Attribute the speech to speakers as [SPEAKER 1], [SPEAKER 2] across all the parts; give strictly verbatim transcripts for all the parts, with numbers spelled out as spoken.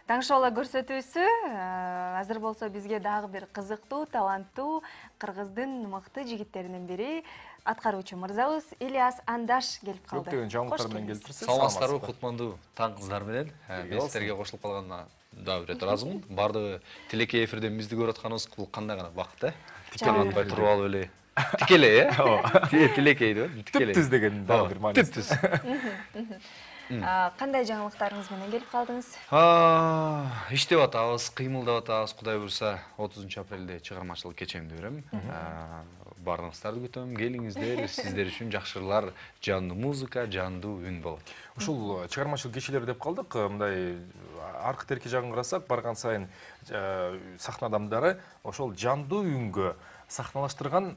[SPEAKER 1] Таңшола көрсөтүүсү азыр болсо бизге дагы бир кызыктуу, таланттуу кыргыздын мыкты жигиттеринин бири аткаруучу мырзабыз Ильяс Андаш келип калды.
[SPEAKER 2] Көптөгөн жаңылыктар менен келиптирсиз.
[SPEAKER 3] Саламатсыздарбы, кутмандуу таң кыздар менен. Мен силерге кошулуп калганына дагы бир ыраазымын. Бардыгы тилекей эфирден бизди көрүп атканыбыз бул кандай гана бакыт, э? Тикелей атпай туруп алып эле. Тикелей, э? Ооба. Тилекей деп, тикелей.
[SPEAKER 2] Түптүз деген дагы бир мааниси.
[SPEAKER 3] Түптүз.
[SPEAKER 1] Кандай жаңылыктарыңыз менен келип калдыңыз?
[SPEAKER 3] Иштеп атабыз, кыймылдап атабыз. Кудай буйрса, отузунчу апрелде чыгармачылык кечемди берем. Баарыңыздарды күтөм, келиңиздер, сиздер үчүн жакшырлар, жандуу музыка, жандуу үн болот.
[SPEAKER 2] Ушул чыгармачылык кечелери деп калдык, мындай аркы терки жагын карасак, барган сайын сахна адамдары ошол жандуу үнгө сахналаштырган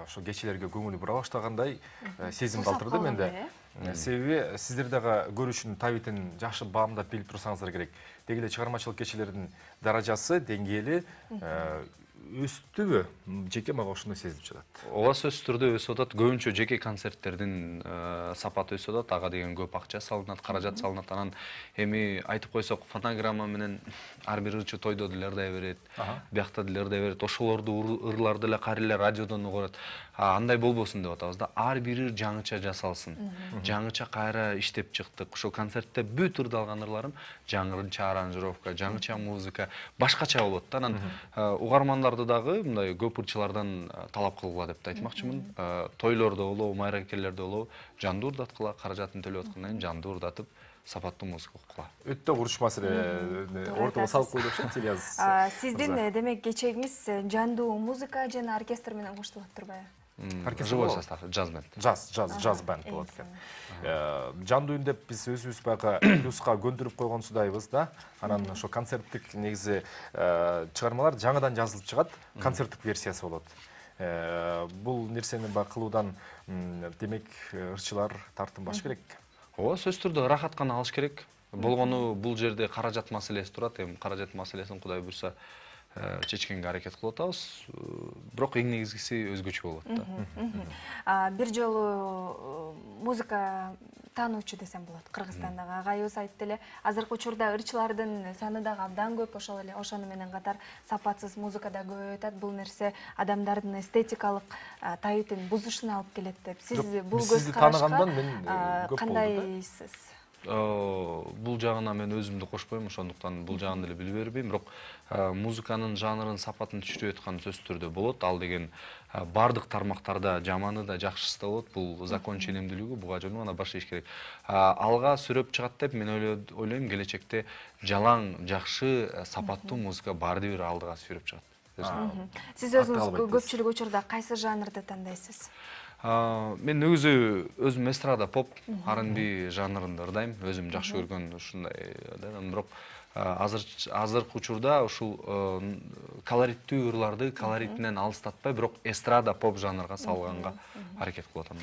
[SPEAKER 2] ошол кечелерге көңүлү бура баштагандай сезим калтырды менде. Себеби сиздер дагы көрүүчүнүн табитин жакшы баамдап билип турсаңыздар керек. Деги эле чыгармачылык кечелердин даражасы, деңгээли өстүбү? Жеке мага ошондой сезилип жатат.
[SPEAKER 3] Ооба, сөзсүз түрдө өсүп атат. Көбүнчө жеке концерттердин сапаты өсүп атат. Ага деген көп акча салынат, каражат салынат. Анан эми айтып койсок, фонограмма менен ар бир ырчы тойдо дилердей берет, биякта дилердей берет. Ошолорду ырларды эле кайра эле радиодон угат. Андай болбосун деп атабыз да. Ар бир ыр жаңыча жасалсын. Жаңыча кайра иштеп чыктык. Ошол концертте бүт ырды алган ырларым жаңыча аранжировка, жаңыча музыка, башкача болот да. Анан угармандар дагы мындай көп ырчылардан талап кылгыла деп айтмакчымын. Тойлордо болобу, майракелерде болобу жандуу урдаткыла, каражатын төлөп аткандан кийин жандуу урдатып, сапаттуу музыка окугула. Өтө
[SPEAKER 2] курч маселе ортого салып койду окшойт, Ильяс.
[SPEAKER 1] Сиздин демек кечегиңиз жандуу музыка жана оркестр менен коштулат турбайбы?
[SPEAKER 3] Живой состав, джаз-бенд.
[SPEAKER 2] Джаз, джаз, джаз-бенд болот экен. Жандуу үн деп биз өзүбүз баягы плюска көндүрүп койгонсудайбыз да. Анан ошо концерттик негизи чыгармалар жаңыдан жазылып чыгат, концерттик версиясы болот. Бул нерсени баягы кылуудан демек ырчылар тартынбаш керек.
[SPEAKER 3] Ооба, сөзсүз түрдө рахат гана алыш керек. Болгону бул жерде каражат маселеси турат. Эми каражат маселесин Кудай буйрса чечкенге аракет кылып атабыз. Бирок эң негизгиси өзгөчө болот да.
[SPEAKER 1] Бир жолу музыка таануучу десем болот. Кыргызстандагы агайыбыз айтты эле, азыркы учурда ырчылардын саны дагы абдан көп, ошол эле ошону менен катар сапатсыз музыка да көбөйүп атат. Бул нерсе адамдардын эстетикалык табитин бузушуна алып келет деп. Сиз бул көз карашка кандайсыз?
[SPEAKER 3] Бул жагына мен өзүмдү кошпойм, ошондуктан бул жагын деле билип бербейм. Бирок музыканын жанрын, сапатын түшүрүп аткан сөзсүз түрдө болот. Ал деген бардык тармактарда жаманы да, жакшысы да болот. Бул закон ченемдүүлүгү, буга жөн гана башташ керек. Алга сүрөп чыгат деп мен ойлойм, келечекте жалаң, жакшы, сапаттуу музыка баарды бир алдыга сүрөп чыгат.
[SPEAKER 1] Сиз өзүңүз көпчүлүк учурда кайсы жанрды тандайсыз?
[SPEAKER 3] Мен өзү өзүм эстрада, поп, ар энд би жанрында ырдайм. Өзүм жакшы көргөн ушундай да. Бирок азыркы учурда ушул колориттүү ырларды колоритинен алыстатпай, бирок эстрада, поп жанрга салганга аракет кылып атам.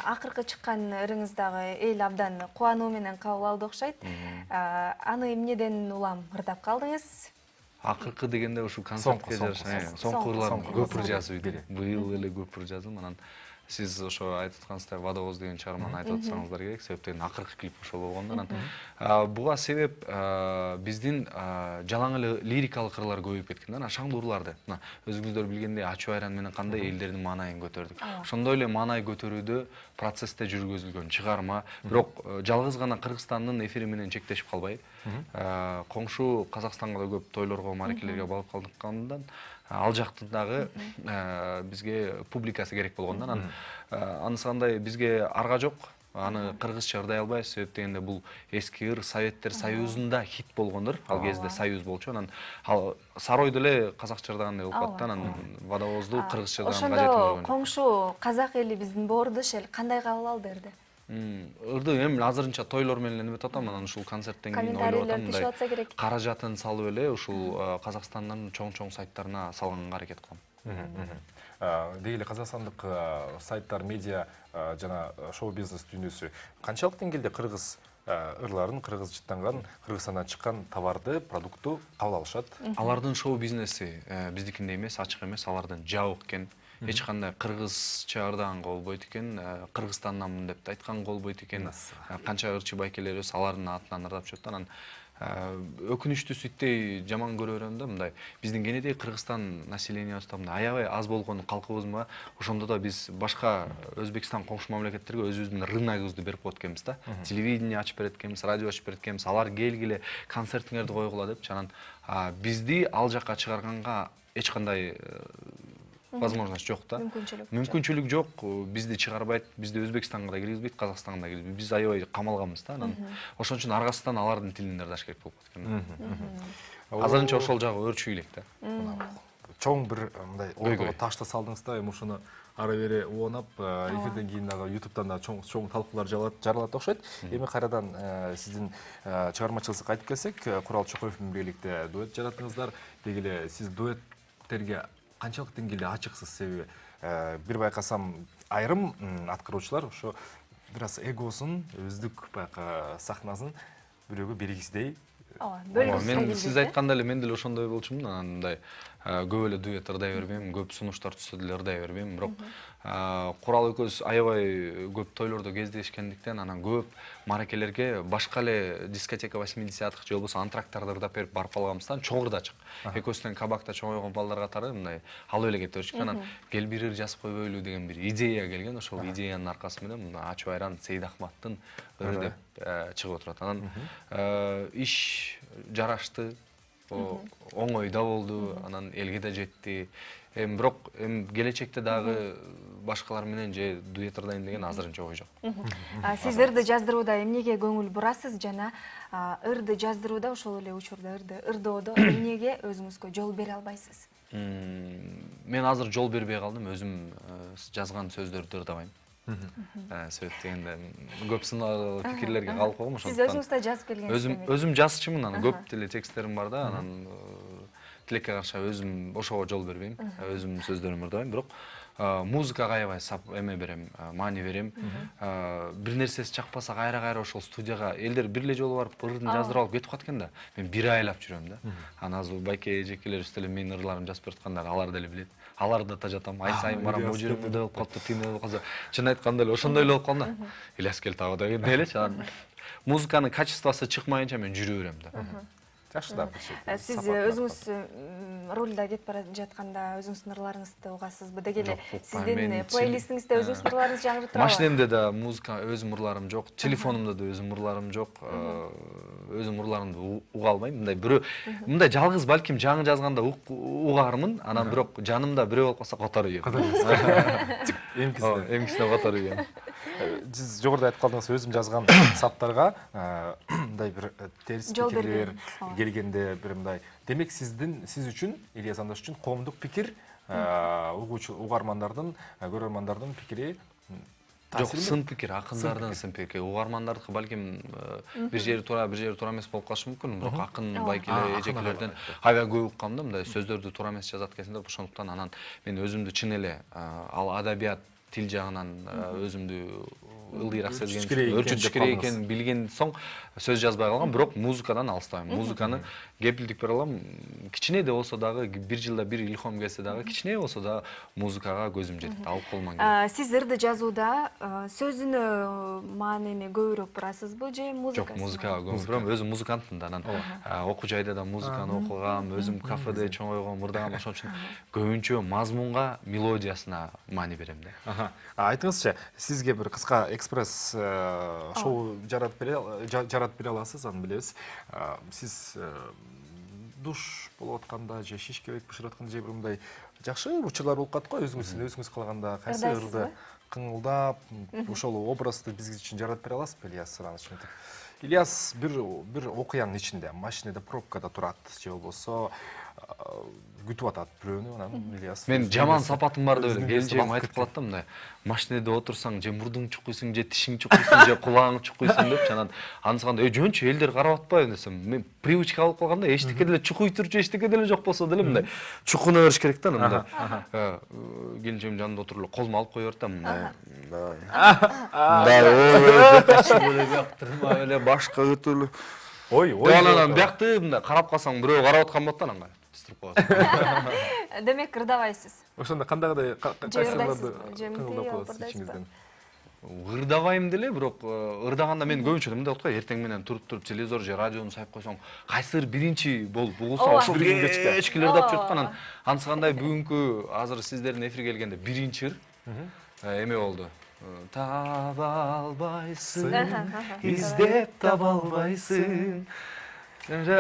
[SPEAKER 1] Акыркы чыккан ырыңыз дагы эл абдан кубануу менен кабыл алды окшойт. Аны эмнеден улам ырдап калдыңыз?
[SPEAKER 3] Акыркы дегенде ушул концертке жараша соңку ырлар көп ыр жазып идим. Быйыл эле көп ыр жаздым. Анан сиз ошо айтып аткансыздай «Водовоз» деген чыгарманы айтып атсаңыздар керек, себептен акыркы клип ошол болгондон. Буга себеп биздин жалаң эле лирикалык ырлар көбөйүп кеткен да, шаңдуу ырларды. Мына өзүңүздөр билгендей ачуу айран менен кандай элдердин маанайын көтөрдүк. Ошондой эле маанай көтөрүүдө процессте жүргүзүлгөн чыгарма, бирок жалгыз гана Кыргызстандын эфири менен чектешип калбай, коңшу Казакстанга да көп тойлорго, мааракелерге барып калдыккандан ал жактын дагы бизге публикасы керек болгондон, анысы кандай бизге арга жок. Аны кыргызча ырдай албайбыз, себеп дегенде бул эски ыр Советтер Союзунда хит болгон ыр. Ал кезде Союз болчу. Анан ал Сарой деле казакча ырдагандай болуп калды. Анан Водовозду кыргызча ырдаган кажети болгон.
[SPEAKER 1] Ошондо коңшу казак эли биздин боордуш эл кандай кабыл алды эрди?
[SPEAKER 3] Ырды эми азырынча тойлор менен эметип атам, анан ушул концерттен кийин ойлоп атам, каражатын салып эле ушул Казакстандын чоң-чоң сайттарына салганга аракет кылам.
[SPEAKER 2] Деги эле Казакстандык сайттар, медиа жана шоу-бизнес дүйнөсү канчалык деңгээлде кыргыз ырларын, кыргыз жыттанган, Кыргызстандан чыккан товарды, продукту кабыл алышат?
[SPEAKER 3] Алардын шоу-бизнеси биздикиндей эмес, ачык эмес, алардын жабык экен. эч кандай кыргызча ырдаган болбойт экен, Кыргызстандамын деп айтканга болбойт экен. Канча ырчы байкелерибиз алардын атынан ырдап жүрөт. Анан өкүнүчтүүсү иттей жаман көрө берем да, мындай биздин кенедей Кыргызстан населениябызда мындай аябай аз болгон калкыбызмы, ошондо да биз башка Өзбекстан коңшу мамлекеттерге өзүбүздүн рыногубузду берип коет экенбиз да. Телевидение ачып берет экенбиз, радио ачып берет экенбиз, алар келгиле, концертиңерди койгула депчи. Анан бизди ал жака чыгарганга эч кандай возможность жок да.
[SPEAKER 1] Мүмкүнчүлүк.
[SPEAKER 3] Мүмкүнчүлүк жок. Бизди чыгарбайт, бизди Өзбекстанга да киргизбейт, Казакстанга да киргизбейт. Биз аябай камалганбыз да. Анан ошон үчүн аргасынан алардын тилин ырдаш керек болуп кеткен. Азырынча ошол жагы өөрчүй элек да.
[SPEAKER 2] Чоң бир мындай ордого ташты салдыңыз да, эми ушуну ары бери уонап, эфирден кийин дагы ютубтан да чоң чоң талкуулар жаралат окшойт. Эми кайрадан сиздин чыгармачылыгыңызга кайтып келсек, Курал Чокоев менен бийликте дуэт жараттыңыздар. Деги эле сиз дуэттерге канчалык деңгээлде ачыксыз? Себеби бир байкасам айрым аткаруучулар ошо бир аз эгосун, өздүк байка сахнасын бирөөгө бергисидей.
[SPEAKER 3] Мен сиз айткандай эле мен деле ошондой болчумун. Анан мындай көп эле дуэт ырдай бербейм, көп сунуштар түзсө деле ырдай бербейм. Бирок Курал экөөбүз аябай көп тойлордо кездешкендиктен, анан көп маракелерге башка эле дискотека восьмидесятых же болбосо антрактарды ырдап берип барып калганбыздан чоң ырдачык. Экөөбүздөн кабакта чоңойгон балдар катары мындай алып эле кете берчүк. Анан кел бир ыр жазып койбойлу деген бир идея келген. Ошол идеянын аркасы менен мына Ачуу Айран Сейдахматтын ыры деп чыгып отурат. Анан иш жарашты, оңой да болду, анан элге да жетти. Эми бирок эми келечекте дагы башкалар менен же дуэт ырдайм деген азырынча ой жок.
[SPEAKER 1] Сиз ырды жаздырууда эмнеге көңүл бурасыз жана ырды жаздырууда ошол эле учурда ырды ырдоодо эмнеге өзүңүзгө жол бере албайсыз?
[SPEAKER 3] Мен азыр жол бербей калдым, өзүм жазган сөздөрдү ырдабайм. Себеп дегенде көп сынактуу пикирлерге калып койгом, ошондуктан.
[SPEAKER 1] Сиз өзүңүз да жазып келгенсиз.
[SPEAKER 3] Өзүм өзүм жазчумун, анан көп деле тексттерим бар да, анан тилекке каршы өзүм ошого жол бербейм, өзүм сөздөрүмдү ырдабайм. Бирок музыкага аябай эме берем, маани берем. Бир нерсеси чакпаса кайра-кайра ошол студияга элдер бир эле жолу барып ырдын жаздырып алып кетип калат экен да. Мен бир айлап жүрөм да. Анан азыр байке эжекелерибиз деле менин ырларымды жазып берип аткандар, алар деле билет. Аларды да жатам, ай сайын барам, бул жерим мындай болуп калыптыр, тигиндей болуп калса. Чын айтканда эле ошондой эле болуп калды. Ильяс кел тагы деген элечи. Анан музыканын качествосу чыкмайынча мен жүрө берем да.
[SPEAKER 2] Жакшы да.
[SPEAKER 1] Сиз өзүңүз ролда кетип бара жатканда өзүңүздүн ырларыңызды угасызбы? Деги эле сиздин плейлистиңизде өзүңүздүн ырларыңыз жаңырып турабы?
[SPEAKER 3] Машинемде да музыка өзүм ырларым жок, телефонумда да өзүм ырларым жок. Өзүм ырларымды уга албайм. Мындай бирөө мындай жалгыз балким жаңы жазганда угармын, анан бирок жанымда бирөө болуп калса которуп ийем.
[SPEAKER 2] Эмкисине.
[SPEAKER 3] Эмкисине которуп ийем.
[SPEAKER 2] Сиз жогоруда айтып калдыңыз, өзүм жазган саптарга мындай бир терс пикирлер келгенде бир мындай. Демек сиздин сиз үчүн, Ильяс Андаш үчүн коомдук пикир, угуучу угармандардын, көрөрмандардын пикири
[SPEAKER 3] жок, сын пикир, акындардын сын пикири. Угармандардыкы балким бир жери туура, бир жери туура эмес болуп калышы мүмкүн, бирок акын байкелер, эжекелерден аябай көп уккам да, мындай сөздөрдү туура эмес жазат экенсиңер, ошондуктан анан мен өзүмдү чын эле ал адабият тил жагынан өзүмдү ылдыйраак сезген, өрчүтүш керек экенин билген соң сөз жазбай калгам, бирок музыкадан алыстабайм. Музыканы кепилдик бере алам. Кичине да болсо дагы бир жылда бир илхом келсе дагы, кичине болсо да музыкага көзүм жетет, алып колуман келет.
[SPEAKER 1] Сиз ырды жазууда сөзүнө маанини көбүрөөк бурасызбы же музыкага?
[SPEAKER 3] Жок, музыкага көбүрөөк бурам. Өзүм музыкантмын да, анан окуу жайда да музыканы окугам, өзүм кафеде чоңойгом, ырдагам, ошон үчүн көбүнчө мазмунга, мелодиясына маани берем да.
[SPEAKER 2] Айтыңызчы, сизге бир кыска экспресс шоу жаратып бере жаратып бере аласыз, аны билебиз. Сиз душ болуп атканда же шиш кебек бышырып атканда же бир мындай жакшы учурлар болуп калат го, өзүңүз өзүңүз калганда кайсы ырды кыңылдап ошол образды биз үчүн жаратып бере аласызбы, Ильяс Иванович? Ильяс бир бир окуянын ичинде, машинада, пробкада турат же болбосо күтүп атат бирөөнү, анан Ильяс.
[SPEAKER 3] Мен жаман сапатым бар деп эле келинчегим айтып калат да, мындай машинада отурсаң же мурдуң чукуйсуң, же тишиң чукуйсуң, же кулагың чукуйсуң депчи. Анан анысыканда "Эй, жөнчү, элдер карап атпайбы" десем, мен привычка алып калганда эчтеке деле чукуй турчу, эчтеке деле жок болсо деле мындай чукуна бериш керек да, мындай. Келинчегим жанында отуруп эле колуму алып кое берет да, мындай. Мындай ой, ташып эле бияктырма эле башка өтөлү.
[SPEAKER 2] Ой, ой.
[SPEAKER 3] Анан биякты мындай карап калсаң бирөө карап аткан болот да, анан туруп калат.
[SPEAKER 1] Демек ырдабайсыз.
[SPEAKER 2] Ошондо кандайдай кайсыларды кыңылдап каласыз ичиңизден?
[SPEAKER 3] Ырдабайм деле, бирок ырдаганда мен көбүнчө мындай болот го, эртең менен туруп-туруп телевизор же радиону сайып койсоң, кайсыр биринчи болуп угулса, ошол кечки ырдап жүрүп анан анысы кандай бүгүнкү азыр сиздердин эфирге келгенде биринчи ыр эме болду. Таба албайсың, издеп таба албайсың.
[SPEAKER 2] Сиздер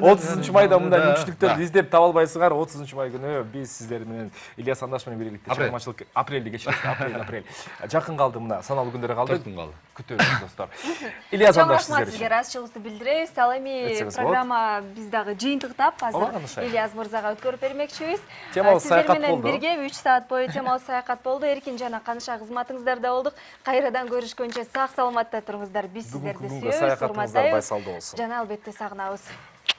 [SPEAKER 2] отузунчу майда мындай мүмкүнчүлүктөрдү издеп таба албайсыңар. отузунчу май күнү биз сиздер менен Ильяс Андаш менен бийликте чыгармачылык апрелде кечирет, апрель, апрель. Жакын калды, мына саналуу күндөр калды.
[SPEAKER 3] төрт күн калды.
[SPEAKER 2] Күтөбүз достор. Ильяс Андаш
[SPEAKER 1] сиздер. Сизге ыраазычылыгыбызды билдиребиз. Ал эми программа биз дагы жыйынтыктап азыр Ильяс мырзага өткөрүп бермекчибиз.
[SPEAKER 2] Темалык саякат болду.
[SPEAKER 1] Сиздер менен бирге үч саат бою темалык саякат болду. Эркин жана Каныша кызматыңыздарда болдук. Кайрадан көрүшкөнчө сак саламатта туруңуздар. Биз сиздерди сүйөбүз, урматтайбыз. Жана албетте сагынабыз.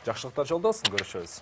[SPEAKER 2] Жакшылыктар жолдосун, көрүшөбүз.